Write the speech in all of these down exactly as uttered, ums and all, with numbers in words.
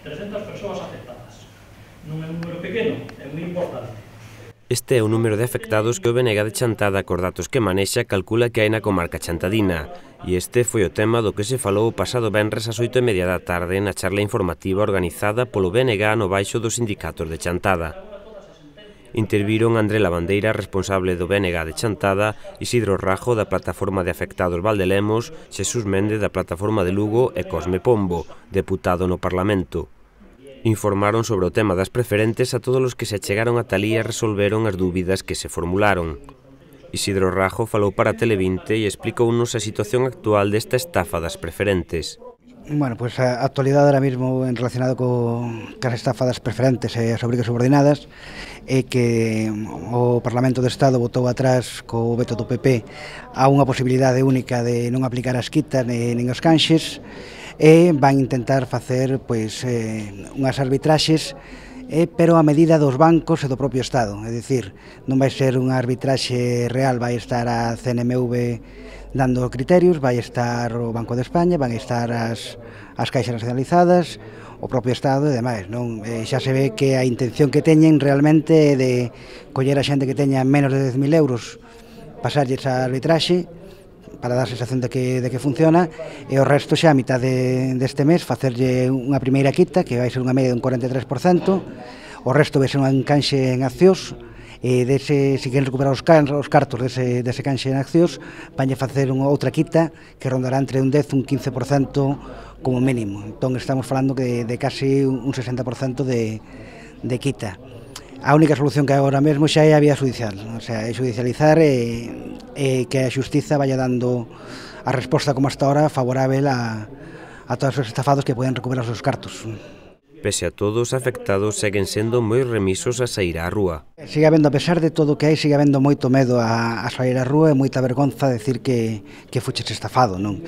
trescentas persoas afectadas. Non é un número pequeno, é moi importante. Este é o número de afectados que o B N G de Chantada, cos datos que manexa, calcula que hai na comarca chantadina. E este foi o tema do que se falou o pasado venres ás oito e media da tarde na charla informativa organizada polo B N G no baixo dos sindicatos de Chantada. Interviron André Lavandeira, responsable do B N G de Chantada, Isidro Rajo, da Plataforma de Afectados Valdelemos, Xesús Méndez, da Plataforma de Lugo e Cosme Pombo, deputado no Parlamento. Informaron sobre o tema das preferentes a todos os que se achegaron a talí e resolveron as dúbidas que se formularon. Isidro Rajo falou para Tele vinte e explicounos a situación actual desta estafa das preferentes. Bueno, pues a actualidade ahora mismo en relacionado co cas estafa das preferentes e as obrigas subordinadas é que o Parlamento do Estado votou atrás co veto do P P a unha posibilidade única de non aplicar as quitas nin os canxes e van intentar facer pois, eh, unhas arbitraxes eh, pero a medida dos bancos e do propio Estado, é dicir, non vai ser unha arbitraxe real, vai estar a C N M V dando criterios, vai estar o Banco de España, van estar as, as caixas nacionalizadas, o propio Estado e demais, non? Eh, xa se ve que a intención que teñen realmente é de coller a xente que teña menos de dez mil euros, pasarlles a arbitraxe para dar a sensación de que, de que funciona e o resto xa a mitad de, deste mes facerlle unha primeira quita que vai ser unha media dun cuarenta e tres por cento, o resto vai ser un canxe en accións e dese, se queren recuperar os, can, os cartos dese, dese canxe en accións vanlle facer unha outra quita que rondará entre un dez e un quince por cento como mínimo. Entón estamos falando de, de casi un sesenta por cento de, de quita. A única solución que hai agora mesmo xa é a vía judicial, o sea, é judicializar e, e que a xustiza vaya dando a resposta como hasta ahora favorável a, a todos os estafados que poden recuperar os seus cartos. Pese a todo, os afectados seguen sendo moi remisos a sair á rúa. Sigue habendo, a pesar de todo o que hai, sigue habendo moito medo a, a sair á rúa e moita vergonza decir que, que fuches estafado, non?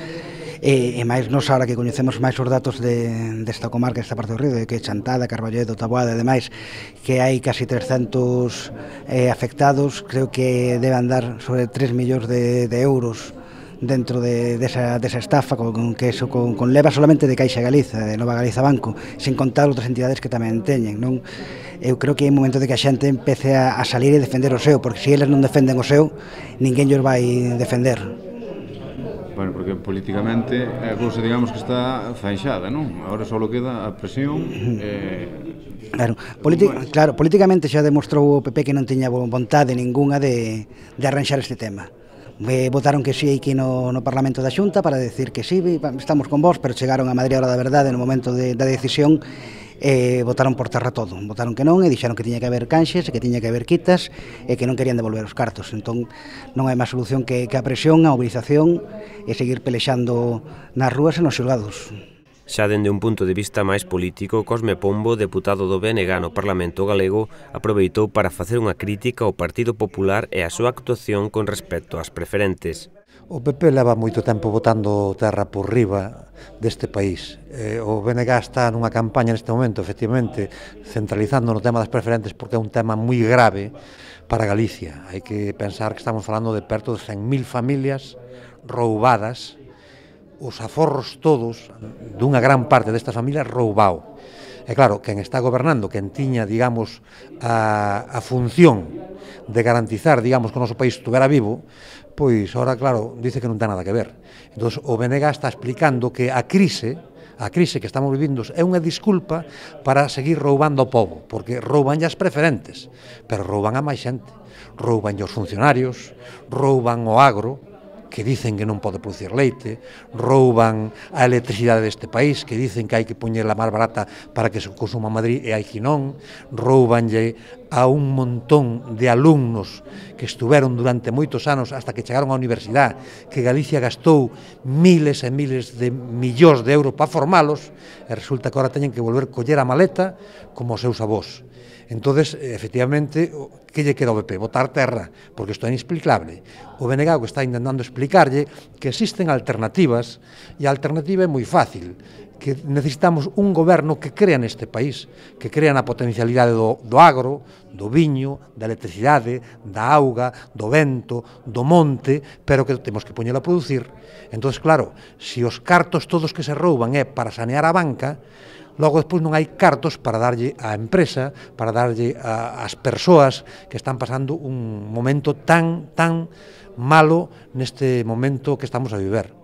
E, e máis nos ahora que coñecemos máis os datos de, desta comarca, desta parte do río, de que Chantada, Carballedo, Taboada e demais, que hai casi trescentos eh, afectados, creo que debe andar sobre tres millóns de, de euros dentro de, desa, desa estafa, con, con que eso con, con leva solamente de Caixa Galiza, de Nova Galiza Banco, sin contar outras entidades que tamén teñen, non? Eu creo que é un momento de que a xente empece a, a salir e defender o seu, porque se eles non defenden o seu, ninguén llos vai defender. Bueno, porque políticamente a cousa, digamos, que está zanxada, non? Agora só queda a presión e... Claro, claro, políticamente xa demostrou o P P que non tiña vontade ninguna de, de arranxar este tema. Eh, votaron que sí aquí no, no Parlamento da Xunta para decir que sí, estamos con vos, pero chegaron a Madrid a hora da verdade no momento de, da decisión e eh, votaron por terra todo, votaron que non e dixeron que tiña que haber canxes e que tiña que haber quitas e que non querían devolver os cartos. Entón non hai máis solución que, que a presión, a movilización e seguir pelexando nas rúas e nos xulgados. Xa dende un punto de vista máis político, Cosme Pombo, deputado do B N G no Parlamento Galego, aproveitou para facer unha crítica ao Partido Popular e a súa actuación con respecto ás preferentes. O P P leva moito tempo botando terra por riba deste país. O B N G está nunha campaña neste momento, efectivamente, centralizando no tema das preferentes porque é un tema moi grave para Galicia. Hai que pensar que estamos falando de perto de cen mil familias roubadas, os aforros todos dunha gran parte destas familias roubao. E claro, quen está gobernando, quen tiña, digamos, a, a función de garantizar, digamos, que o noso país estuvera vivo, pois, ora, claro, dice que non ten nada que ver. Entón, o B N G está explicando que a crise, a crise que estamos vivindo é unha disculpa para seguir roubando ao povo, porque rouban as preferentes, pero rouban a máis xente. Rouban os funcionarios, rouban o agro, que dicen que non pode producir leite, rouban a electricidade deste país, que dicen que hai que poñerla máis barata para que se consuma Madrid e hai que non, roubanlle a un montón de alumnos que estuveron durante moitos anos hasta que chegaron á universidade, que Galicia gastou miles e miles de millóns de euros para formalos, e resulta que agora teñen que volver coller a maleta como os seus avós. Entonces, efectivamente, que lle queda ao P P? Botar terra, porque isto é inexplicable. O B N G que está intentando explicarlle que existen alternativas, e a alternativa é moi fácil, que necesitamos un goberno que crea neste país, que crea na potencialidade do, do agro, do viño, da electricidade, da auga, do vento, do monte, pero que temos que poñelo a producir. Entón, claro, se os cartos todos que se rouban é para sanear a banca, logo despois non hai cartos para darlle á empresa, para darlle ás persoas que están pasando un momento tan, tan malo neste momento que estamos a viver.